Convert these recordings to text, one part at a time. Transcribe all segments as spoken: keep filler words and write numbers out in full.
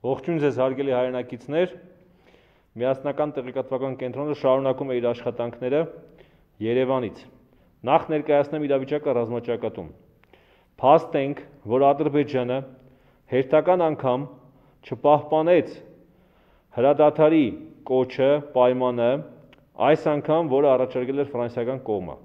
Ողջույն ձեզ հարգելի հայրենակիցներ, միասնական տեղեկատվական կենտրոնը շարունակում է իր աշխատանքները Երևանից։ Նախ ներկայացնեմ իրավիճակը ռազմաճակատում։ Փաստ ենք, որ Ադրբեջանը հերթական անգամ չպահպանեց հրադադարի կոչը, պայմանը, այս անգամ, որը առաջարկել էր ֆրանսիական կողմը։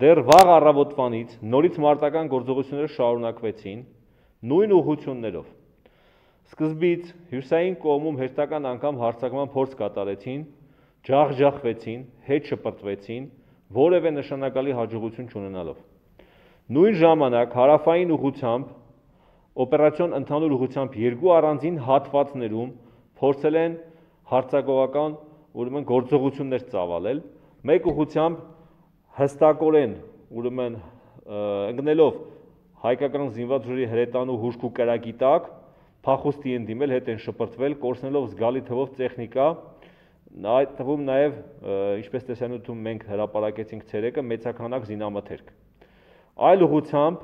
Դեռ վաղ առավոտվանից նորից մարտական գործողությունները շարունակվեցին նույն ուղղություններով։ Սկզբից հյուսային կողմում հերթական անգամ հարձակման փորձ կատարեցին, ջախջախվեցին, հետ շպրտվեցին, որևէ նշանակալի հաջողություն չունենալով։ Նույն ժամանակ հարավային ուղղությամբ, օպերացիոն ընդհանուր ուղղությամբ երկու առանձին հատվածներում փորձել են հարձակողական ուրեմն գործողություններ ծավալել, մեկ ուղղությամբ հստակորեն ուրեմն ընկնելով հայկական զինված ուժերի հրետանու հուժք ու կրակի տակ, փախուստի են դիմել, հետ են շպրտվել, կորցնելով զգալի թվով տեխնիկա, այդ թվում նաև, ինչպես տեսանյութում մենք հրապարակեցինք ցերեկը, մեծաքանակ զինամթերք։ Այլ ուղղությամբ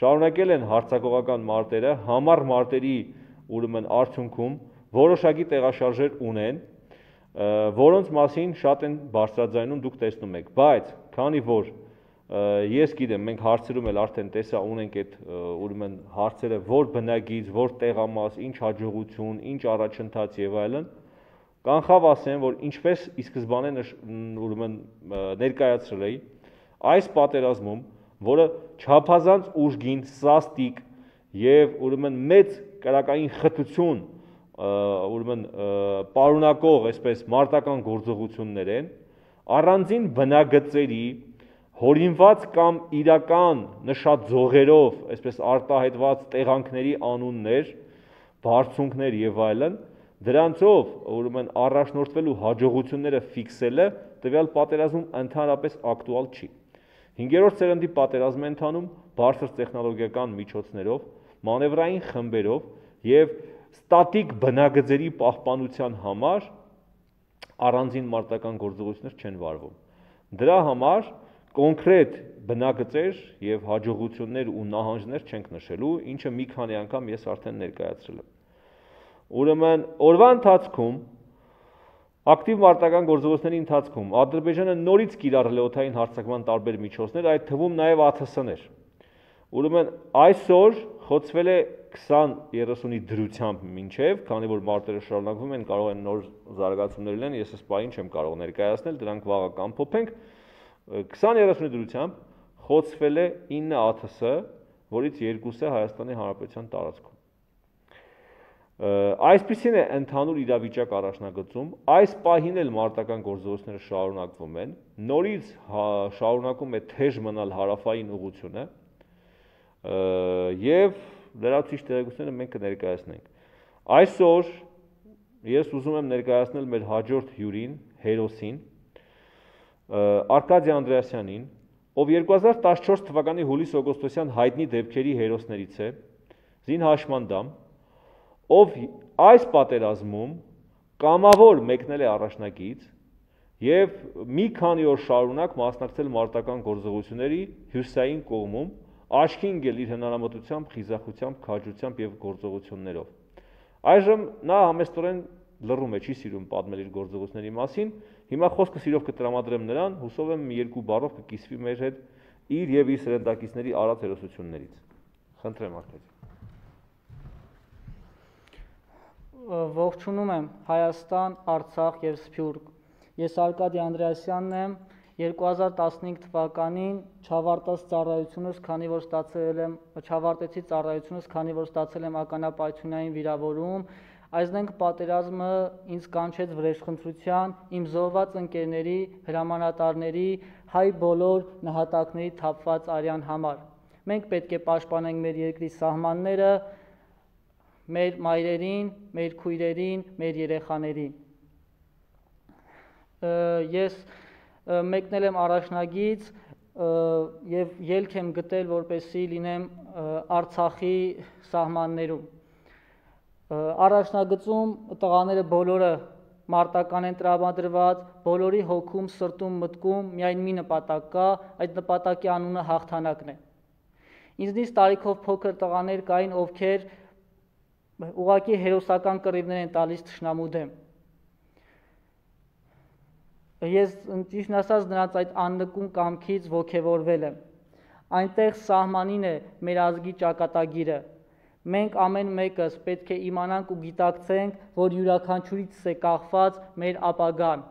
շարունակել են հարձակողական մարտերը, համառ մարտերի ուրեմն արդյունքում որոշակի տեղաշարժեր ունեն, որոնց մասին շատ են բարձրաձայնում, դուք տեսնում եք, բայց քանի որ ես գիտեմ, մենք հարցերում էլ արդեն տեսա ունենք այդ ուրեմն հարցերը, որ բնագիծ, որ տեղամաս, ինչ հաջողություն, ինչ առաջընթաց եւ այլն, կանխավ ասեմ, որ ինչպես ի սկզբանե ուրեմն ներկայացրել էի, այս պատերազմում, որը չափազանց ուժգին, սաստիկ եւ ուրեմն մեծ կրակային խտություն ուրեմն պարունակող այսպես մարտական գործողություններ են, առանձին բնագծերի հորինված կամ իրական նշած ձողերով, այսպես արտահայտված տեղանքների անուններ, բարձունքներ եւ այլն, դրանցով ուրեմն առաջնորդվելու հաջողությունները ֆիքսելը տվյալ պատերազմում ընդհանրապես ակտուալ չի։ Հինգերորդ սերնդի պատերազմ է ընթանում բարձր տեխնոլոգիական միջոցներով, մանևրային խմբերով եւ ստատիկ բնագծերի պահպանության համար առանձին մարտական գործողություններ չեն վարվում։ Դրա համար կոնկրետ բնագծեր եւ հաջողություններ ու նահանջներ չենք նշելու, ինչը մի քանի անգամ ես արդեն ներկայացրել եմ։ Ուրեմն օրվա ընթացքում ակտիվ մարտական գործողությունների ընթացքում Ադրբեջանը նորից կիրառել է օդային հարձակման տարբեր միջոցներ, այդ թվում նաեւ A T S-ներ։ Ուրեմն այսօր խոցվել է քսան երեսունի դրությամբ մինչև, քանի որ մարտերը շարունակվում են, կարող են նոր զարգացումներ լինեն, ես այս պահին չեմ կարող ներկայացնել, դրանք վաղը կամփոփենք, քսան երեսունի դրությամբ խոցվել է ինը A T S, որից երկուսը Հայաստանի Հանրապետության տարածքում։ Այսպիսին է ընդհանուր իրավիճակ առաջնագծում, այս պահին էլ մարտական գործողությունները շարունակվում են, նորից շարունակում է թեժ մնալ հարավային ուղղությունը եւ դրա ցույց տեղեկությունները մենք կներկայացնենք։ Այսօր ես ուզում եմ ներկայացնել մեր հաջորդ հյուրին, հերոսին, Արկադի Անդրեասյանին, ով երկու հազար տասնչորս թվականի հուլիս-օգոստոսյան հայտնի դեպքերի հերոսներից է, զինհաշմանդամ, ով այս պատերազմում կամավոր մեկնել է առաջնակից եւ մի քանի օր շարունակ մասնակցել մարտական գործողությունների հյուսային կողմում, աչքի ընկել իր հնարամտությամբ, խիզախությամբ, քաջությամբ եւ գործողություններով։ Այժմ նա համեստորեն լռում է, չի սիրում պատմել իր գործողությունների մասին։ Հիմա խոսքը սիրով կտրամադրեմ նրան, հուսով եմ երկու բառով կկիսվի մեր հետ իր եւ իր սերնդակիցների արած հերոսություններից։ Խնդրեմ Արկադի։ Ողջունում եմ Հայաստան, Արցախ եւ Սփյուռք։ Ես Արկադի Անդրեասյանն եմ, երկու հազար տասնհինգ թվականին չավարտած ծառայությունս, քանի որ ստացել եմ չավարտեցի ծառայությունս, քանի որ ստացել եմ ականապայթունային վիրավորում, այսինքն պատերազմը ինձ կանչեց վրեժխնդրության, իմ զոհված ընկերների, հրամանատարների, հայ բոլոր նահատակների թափված արյան համար։ Մենք պետք է պաշտպանենք մեր երկրի սահմանները, մեր մայրերին, մեր քույրերին, մեր երեխաներին։ Ես մեկնել եմ առաջնագից եւ ելք եմ գտել, որպեսզի լինեմ Արցախի սահմաններում։ Առաջնագծում տղաները բոլորը մարտական են տրամադրված, բոլորի հոգում, սրտում, մտքում միայն մի նպատակ կա, այդ նպատակի անունը հաղթանակն է։ Ինձնից տարիքով փոքր տղաներ կային, ովքեր ուղղակի հերոսական կռիվներ են տալիս թշնամու դեմ։ Ես ճիշտ ասած նրանց այդ աննկուն կամքից ոգևորվել եմ։ Այնտեղ սահմանին է մեր ազգի ճակատագիրը։ Մենք ամեն մեկս պետք է իմանանք ու գիտակցենք, որ յուրաքանչյուրից է կախված մեր ապագան։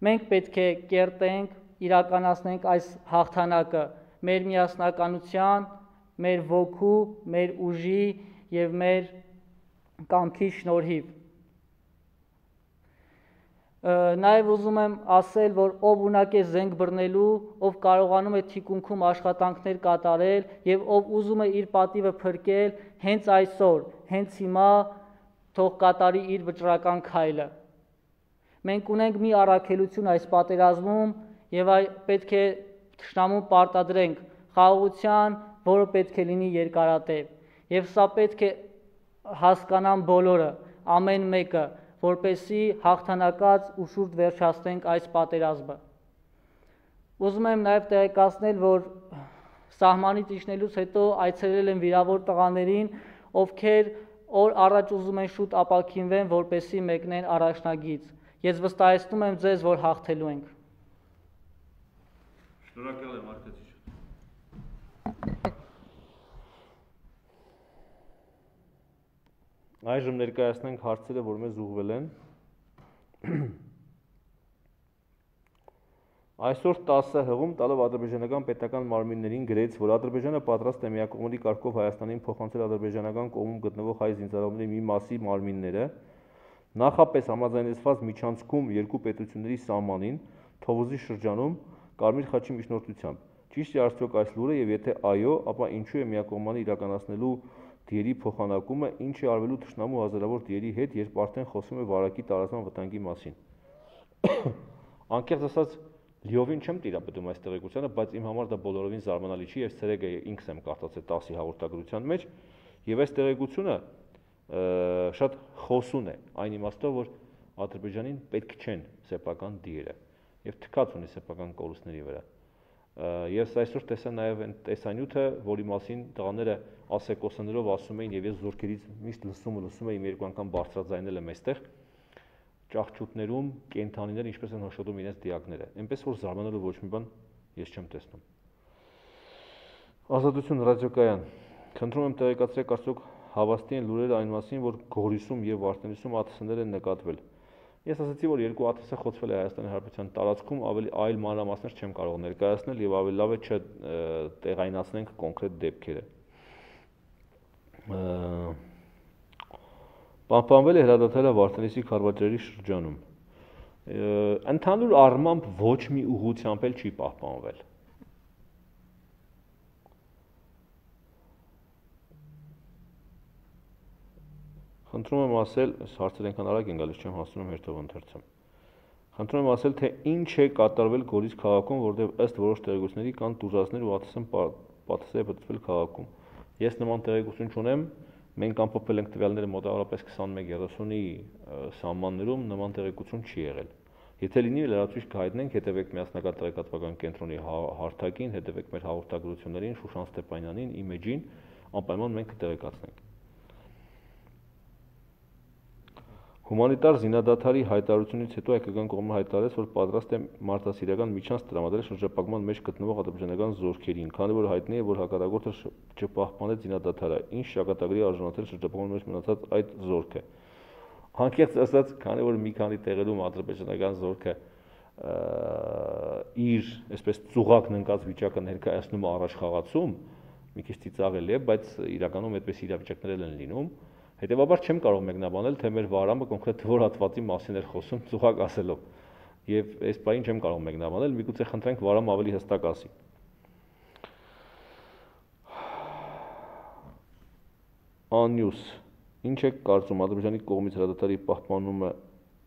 Մենք պետք է կերտենք, իրականացնենք այս հաղթանակը մեր միասնականության, մեր ոգու, մեր ուժի եւ մեր կամքի շնորհիվ։ Նաև ուզում եմ ասել, որ ով ունակ է զենք բռնելու, ով կարողանում է թիկունքում աշխատանքներ կատարել եւ ով ուզում է իր պատիվը փրկել, հենց այսօր, հենց հիմա թող կատարի իր վճռական քայլը։ Մենք ունենք մի առաքելություն այս պատերազմում եւ այ պետք է թշնամուն պարտադրենք խաղաղության, որը պետք է լինի երկարատև։ Եվ սա պետք է հասկանան բոլորը, ամեն մեկը, որպեսզի հաղթանակած ու շուրջ վերջացնենք այս պատերազմը։ Ուզում եմ նաև տեղեկացնել, որ սահմանից իջնելուց հետո այցելել եմ վիրավոր տղաներին, ովքեր օր առաջ ուզում են շուտ ապաքինվեն, որպեսզի մեկնեն առաջնագիծ։ Ես վստահեցնում եմ ձեզ, որ հաղթելու ենք։ Շնորհակալ եմ, Արկադիչ։ Այժմ ներկայացնենք հարցերը, որ մեզ ուղղվել են։ Այսօր տասը հղում տալով ադրբեջանական պետական մարմիններին գրեց, որ Ադրբեջանը պատրաստ է միակողմանի կարգով Հայաստանին փոխանցել ադրբեջանական կողմում գտնվող հայ զինծառայողների մի մասի մարմինները, նախապես համաձայնեցված միջանցքում երկու պետությունների սահմանին, Թովուզի շրջանում, Կարմիր խաչի միջնորդությամբ։ Ճիշտ է արդյոք այս լուրը, եւ եթե այո, ապա ինչու է միակողմանի իրականացնելու դիերի փոխանակումը, ինչ է արվելու թշնամու հազարավոր դիերի հետ, երբ արդեն խոսում է վարակի տարածման վտանգի մասին։ Անկեղծ ասած, լիովին չեմ տիրապետում այս տեղեկությանը, բայց իմ համար դա բոլորովին զարմանալի չի, եւ ցերեկը ինքս եմ կարդացել տասի հաղորդագրության մեջ, եւ այս տեղեկությունը շատ խոսուն է, այն իմաստով, որ Ադրբեջանին պետք չեն սեփական դիերը եւ թքած ունի սեփական կորուստների վրա։ Ես այսօր տեսա նաև այն տեսանյութը, որի մասին տղաները ասեկոսներով ասում էին, եւ ես զորքերից միշտ լսում ու լսում եմ երկու անգամ բարձրաձայնել եմ այստեղ, ճահճուտներում կենթանիներ ինչպես են հոշոտում իրենց դիակները, այնպես որ զարմանալու ոչ մի բան ես չեմ տեսնում։ Ազատություն ռադիոկայան, խնդրում եմ տեղեկացրեք արդյոք հավաստի են լուրերը այն մասին, որ Գորիսում եւ Վարդենիսում ԱԹՍ-ներ են նկատվել։ Ես ասացի, որ երկու ԱԹՍ խոցվել է Հայաստանի Հանրապետության տարածքում, ավելի այլ մանրամասներ չեմ կարող ներկայացնել եւ ավելի լավ է չտեղայնացնենք կոնկրետ դեպքերը։ Պահպանվել է հրադադարը Վարդենիսի քարվաճերի շրջանում։ Ընդհանուր առմամբ ոչ մի ուղղությամբ էլ չի պահպանվել։ Խնդրում եմ ասել, հարցեր այնքան արագ են գալիս, չեմ հասնում հերթով ընթերցեմ։ Խնդրում եմ ասել, թե ինչ է կատարվել Գորիս քաղաքում, որտեղ ըստ որոշ տեղեկությունների կան տուժածներ ու ԱԹՍ-ն պատասխան է բծվել քաղաքում։ Ես նման տեղեկություն չունեմ, մենք ամփոփել ենք տվյալները մոտավորապես քսանմեկ երեսունի սահմաններում, նման տեղեկություն չի եղել։ Եթե լինի, լրացուցիչ կհայտնենք, հետևեք միասնական տեղեկատվական կենտրոնի հարթակին, հետևեք մեր հաղորդագրություններին, Շուշան Ստեփանյանին, իմեջին, անպայման մենք կտեղեկացնենք։ Հումանիտար զինադադարի հայտարարությունից հետո հայկական կողմը հայտարարեց, որ պատրաստ է մարդասիրական միջանց տրամադրել շրջապատման մեջ գտնվող ադրբեջանական զորքերին, քանի որ հայտնի է, որ հակառակորդը չպահպանեց զինադադարը, ինչ ճակատագրի արժանացել շրջապատման մեջ մնացած այդ զորքը։ Անկեղծ ասած, քանի որ մի քանի տեղերում ադրբեջանական զորքը իր, այսպես ծուղակն ընկած վիճակը ներկայացնում առաջխաղացում, մի քիչ ծիծաղելի է, բայց իրականում այդպես իրավիճակներ են լինում։ Հետևաբար չեմ կարող մեկնաբանել, թե մեր վարամը կոնկրետ որ հատվածի մասին էր խոսում ծուղակ ասելով։ Եվ այս բանին չեմ կարող մեկնաբանել, միգուցե խնդրենք վարամը ավելի հստակ ասի։ Անյուս, ինչ է կարծում Ադրբեջանի կողմից հրադադարի պահպանումը,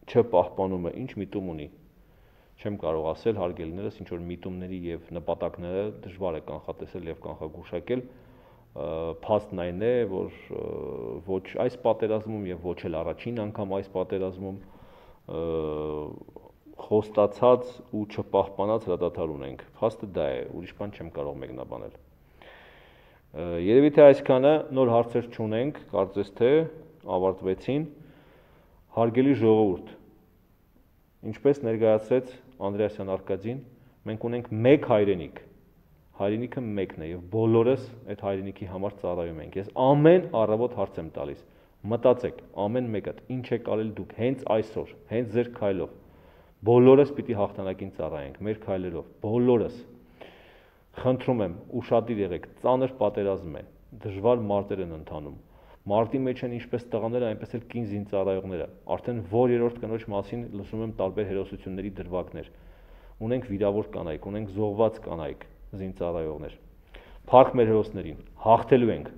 չպահպանումը, ինչ միտում ունի։ Չեմ կարող ասել, հարգելիներս, ինչ որ միտումների եւ նպատակները դժվար է կանխատեսել եւ կանխագուշակել։ Փաստն այն է, որ ոչ այս պատերազմում եւ ոչ էլ առաջին անգամ այս պատերազմում խոստացած ու չպահպանած հրադադար ունենք։ Փաստը դա է, ուրիշ բան չեմ կարող մեկնաբանել։ Երևի թե այսքանը, նոր հարցեր չունենք, կարծես թե ավարտվեցին։ Հարգելի ժողովուրդ, ինչպես ներկայացրեց Անդրեասյան Արկադին, մենք ունենք մեկ հայրենիք, հայրենիքը մեկն է եւ բոլորս այդ հայրենիքի համար ծառայում ենք։ Ես ամեն առավոտ հարց եմ տալիս, մտածեք, ամեն մեկդ ինչ եք արել դուք հենց այսօր, հենց ձեր քայլով, բոլորս պիտի հաղթանակին ծառայենք, մեր քայլերով, բոլորս։ Խնդրում եմ, ուշադիր եղեք, ծանր պատերազմ է, դժվար մարտեր են ընթանում։ Մարտի մեջ են ինչպես տղաները, այնպես էլ կին զինծառայողները։ Արդեն որ երրորդ կնոջ մասին լսում եմ տարբեր հերոսությունների դրվագներ։ Ունենք վիրավոր կանայք, ունենք զոհված կանայք, զինծառայողներ։ Փառք մեր հերոսներին, հաղթելու ենք։